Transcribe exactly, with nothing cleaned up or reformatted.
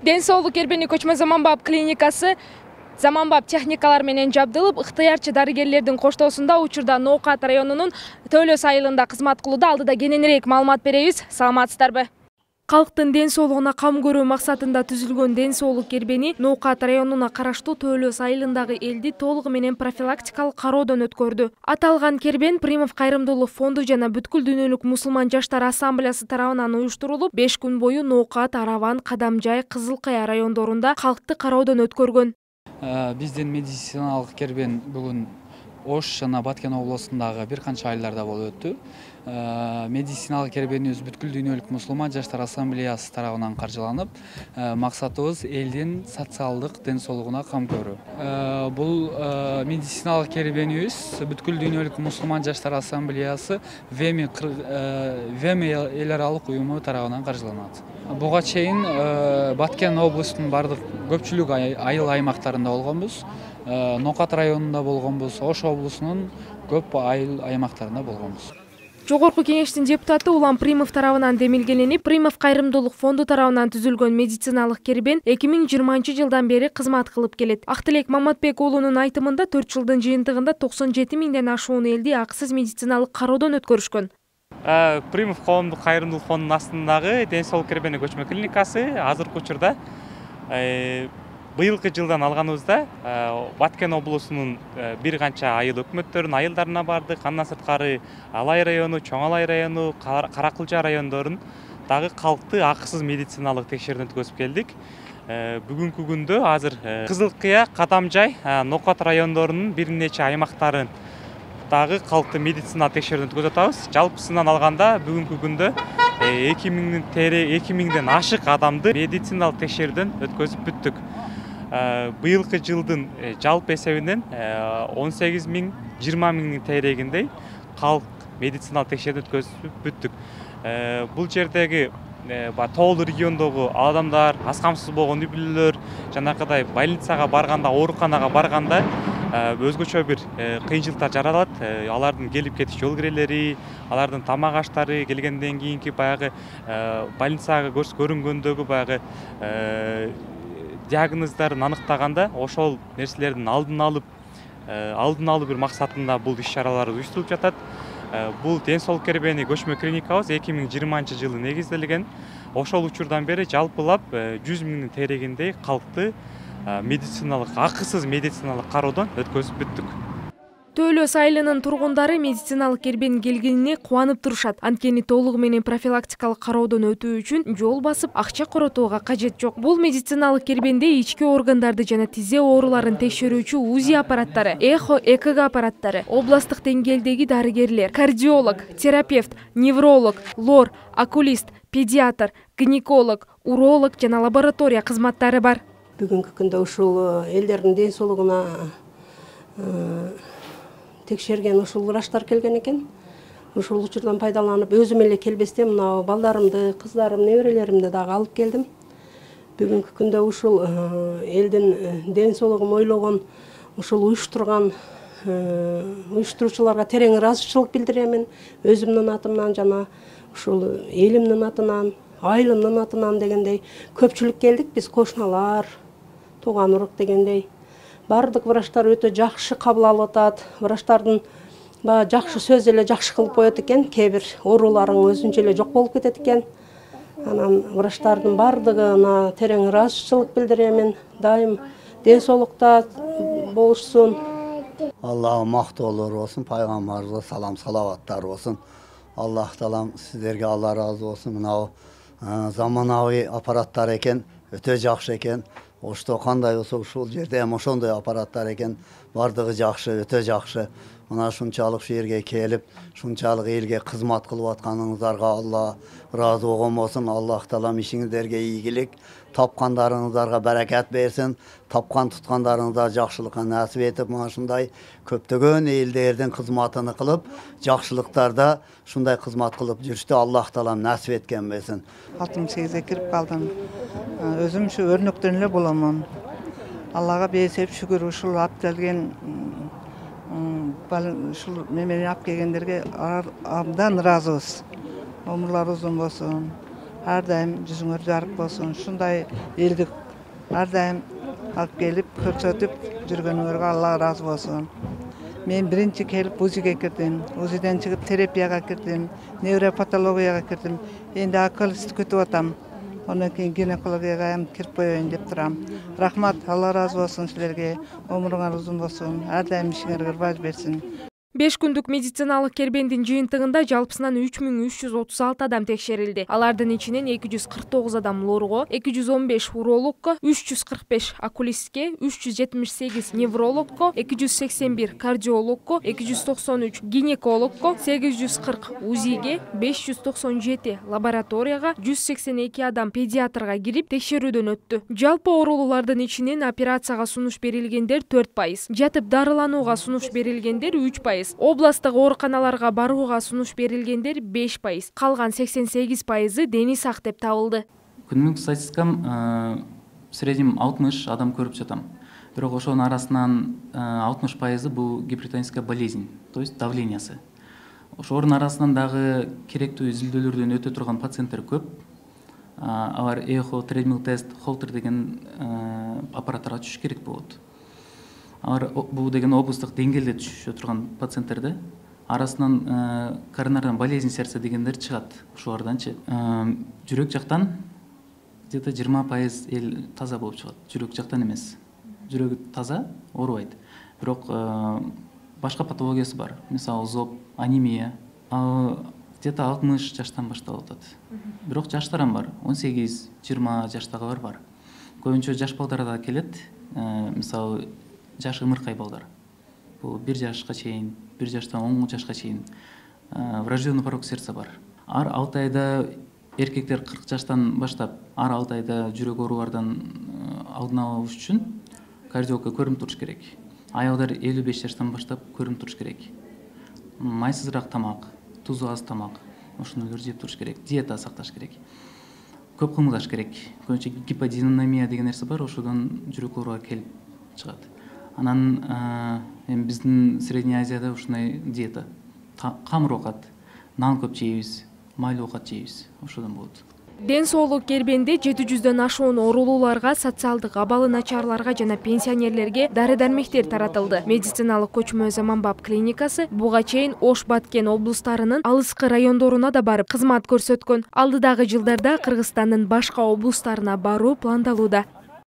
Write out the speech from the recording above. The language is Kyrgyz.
Ден соолук кербени көчмө заманбап клиникасы заманбап техникалар менен жабдылып, ыктыярчы дарыгерлердин коштоосунда учурда Ноокат районунун Төлөс айылында кызмат кылууда. Алдыда кененирээк маалымат беребиз. Саламатсыздарбы? Калктын ден соолугуна кам көрүү максатында түзүлгөн ден соолук кербени Ноокат районуна караштуу Төлөс айылындагы элди толугу менен профилактикалык кароодон өткөрдү. Аталган кербен Примов кайрымдуулук фонду жана бүткүл дүйнөлүк мусулман жаштар ассамблеясы тарабынан уюштурулуп, беш күн бою Ноокат, Араван, Кадамжай, Кызыл Кая райондорунда калкты кароодон өткөргөн. Биздин медициналык кербен бүгүн Ош жана Баткен областындагы бир канча айылдарда болуп өттү. Медициналык кербенибиз бүткүл дүйнөлүк мусулман жаштар ассамблеясы тарабынан каржыланып, максатыбыз элдин социалдык ден соолугуна кам көрүү. Бул медициналык кербенибиз бүткүл дүйнөлүк мусулман жаштар ассамблеясы ВЭМИ ВЭМИ эл аралык уюму тарабынан каржыланат. Буга чейин Баткен областынын бардык көпчүлүк айыл аймактарында болгонбуз. Ноокат районунда болгонбуз, Ош облусунун көп айыл аймактарында болгонбуз. Жогорку кеңештин депутаты Улам Примов тарабынан демилгеленип, Примов кайрымдуулук фонду тарабынан түзүлгөн медициналык кербен эки миң жыйырманчы жылдан бери кызмат кылып келет. Актилек Маматбек уулунун айтымында төрт жылдын жыйынтыгында токсон жети миңден ашуун элди акысыз медициналык кароодон өткөрүшкөн. Примов коомдук кайрымдуулук фондунун астындагы ден соолук кербени көчмө клиникасы азыркы учурда быйылкы жылдан алганыбызда Баткен облусунун бир канча айыл өкмөттөрүнүн айылдарына бардык. Андан сырткары Алай району, Чоң Алай району, Каракылжа райондорун дагы калкты акысыз медициналык текшерүүдөн өткөзүп келдик. Бүгүнкү күндө азыр Кызыл Кыя, Кадамжай, Ноокат райондорунун бир нече аймактарын дагы калкты медициналык текшерүүдөн өткөзүп атабыз. Жалпысынан алганда бүгүнкү күндө эки миңден ашык адамды медициналык текшерүүдөн өткөзүп бүттүк. Быйылкы жылдын жалпы эсебинен он сегиз миң жыйырма миңдин тегерегиндей калк медициналык текшерүүдөн өткөзүп бүттүк. Бул жердеги тоолуу региондогу адамдар, аз камсыз болгон үй бүлөлөр жанакыдай больницага барганда, ооруканага барганда өзгөчө бир кыйынчылыктар жаралат. Алардын келип кетиш жол кирелери, алардын тамак аштары, келгенден кийинки баягы больницага көрүнгөндөгү баягы диагноздорун аныктаганда ошол нерселердин алдын алып, алдын алуу бир максатында бул иш-чаралар уюштурулуп жатат. Бул ден соолук кербени көчмө клиникабыз эки миң жыйырманчы жылы негизделген. Ошол учурдан бери жалпылап жүз миңдин тегерегиндей калкты медициналык, акысыз медициналык кароодон өткөзүп бүттүк. Төлөс айылынын тургундары медициналык кербенин келгенине кубанып турушат. Анткени толугу менен профилактикалык кароодон өтүү үчүн жол басып, акча коротууга кажет жок. Бул медициналык кербенде ички органдарды жана тизе ооруларын текшерүүчү УЗИ аппараттары, эхо, ЭКГ аппараттары, областтык деңгээлдеги дарыгерлер, кардиолог, терапевт, невролог, лор, окулист, педиатр, гинеколог, уролог жана лаборатория кызматтары бар. Бүгүнкү күндө ушул элдердин ден соолугуна текшерген ушул врачтар келген экен. Ушул учурдан пайдаланып, өзүм эле келбестен мына балдарымды, кыздарым, неберелеримди дагы алып келдим. Бүгүнкү күндө ушул элдин ден соолугун ойлогон, ушул уюштурган уюштуруучуларга терең ыраазычылык билдиремин. Өзүмдүн атымдан жана ушул элимдин атынан, айылымдын атынан дегендей көпчүлүк келдик. Биз кошуналар, тууган урук дегендей. Бардык врачтар өтө жакшы кабыл алып атат. Врачтардын баягы жакшы сөз эле жакшы кылып коет экен. Кээ бир ооруларың өзүнчө эле жок болуп кетет экен. Анан врачтардын бардыгына терең ыраазычылык билдиремин. Дайым ден соолукта болушсун. Аллага мактоолор болсун, пайгамбарыбызга салам салаваттар болсун. Аллах таалам сиздерге Алла ыраазы болсун. Мына заманауи аппараттар экен, өтө жакшы экен. Ошто кандай болсо ушул жерде эми ошондой аппараттар экен. Бардыгы жакшы, өтө жакшы. Мына ушунчалык шу жерге келип, ушунчалык элге кызмат кылып атканыңыздарга Алла ыраазы болгон болсун. Аллах таалам ишиңиздерге ийгилик, тапкандарыңыздарга баракат берсин. Тапкан туткандарыңызга жакшылыкка насип этип, мына ушундай көптөгөн элдердин кызматын кылып, жакшылыктарда ушундай кызмат кылып жүрүштү Аллах таалам насип эткен берсин. алтымыш сегизге кирип калдым. Өзүм ушу өрнөктөн эле боломун. Аллага бейсеп шүгүр ушул алып келген ушул немени алып келгендерге абдан ыраазыбыз. Өмүрлөрү узун болсун. ар дайым жүзүңөр жарык болсун. Ушундай элдик ар дайым алып келип көрсөтүп жүргөнүңөргө Алла ыраазы болсун. Мен биринчи келип УЗИге кирдим. УЗИден чыгып терапияга кирдим, невропатологияга кирдим. Энди окулист күтүп атам. Ondan keyin ginekologiyaga ham kirib qo'yayın deb turam. Rahmat, Allah razı olsun sizlarga. Ömrüңөр uzun болсун. Ар дайым ишиңерге ырбаж берсин. беш күндүк медициналык кербендин жыйынтыгында жалпысынан үч миң үч жүз отуз алты адам текшерилди. Алардын ичинен эки жүз кырк тогуз адам лорго, эки жүз он беш урологко, үч жүз кырк беш окулистке, үч жүз жетимиш сегиз неврологко, эки жүз сексен бир кардиологко, эки жүз токсон үч гинекологко, сегиз жүз кырк УЗИге, беш жүз токсон жети лабораторияга, жүз сексен эки адам педиатрга кирип текшерүүдөн өттү. Жалпы оорулуулардын ичинен операцияга сунуш берилгендер төрт пайыз, жатып дарыланууга сунуш берилгендер үч пайыз, областтык ооруканаларга барууга сунуш берилгендер беш пайыз, калган сексен сегиз пайызы дени сак деп табылды. Күнүмдүк статистикам в среднем алтымыш адам көрүп жатам. Бирок ошонун арасынан алтымыш пайызы бул гипертоническая болезнь, то есть давлениясы. Ошонун арасынан дагы керектүү изилдөөлөрдөн өтө турган пациенттер көп. Алар эхо, тредмил тест, холтер деген аппараттарга түшүш керек болот. Алар бул деген облустук деңгээлде түшүшө турган пациенттерде арасынан коронарный болезнь сердца дегендер чыгат. Ошолорданчы жүрөк жактан где-то жыйырма пайыз эл таза болуп чыгат. Жүрөк жактан эмес. Жүрөгү таза, оорубайт. Бирок башка патологиясы бар. Мисалы зоб, анемия. Ал где-то алтымыш жаштан башталып атат. Бирок жаштар бар. он сегиз, жыйырма жаштагылар бар. Көбүнчө жаш балдар да келет. Мисалы жаш ымыркай балдар. Бул бир жашка чейин, бир жаштан он жашка чейин врожденный порок сердца бар. Ар алты айда эркектер кырк жаштан баштап, ар алты айда жүрөк оорулардан алдын алуу үчүн кардиологко көрүнүп туруш керек. Аялдар элүү беш жаштан баштап көрүнүп туруш керек. Майсызыраак тамак, тузу аз тамак, ошондойлорду жеп туруш керек. Диета сакташ керек. Көп кыймылдаш керек. Көбүнчө гиподинамия деген нерсе бар, ошодон жүрөк ооруга келип чыгат. Анан эми биздин Средний Азияда ушундай диета. Камыр оокат, нан көп жейбиз, майлуу оокат жейбиз. Ошодон болот. Ден соолук кербенде жети жүздөн ашуун оорулууларга, социалдык абалы начарларга жана пенсионерлерге дары-дармектер таратылды. Медициналык көчмө Заманбап клиникасы буга чейин Ош, Баткен облустарынын алыскы райондоруна да барып кызмат көрсөткөн. Алдыдагы жылдарда Кыргызстандын башка облустарына баруу пландалууда.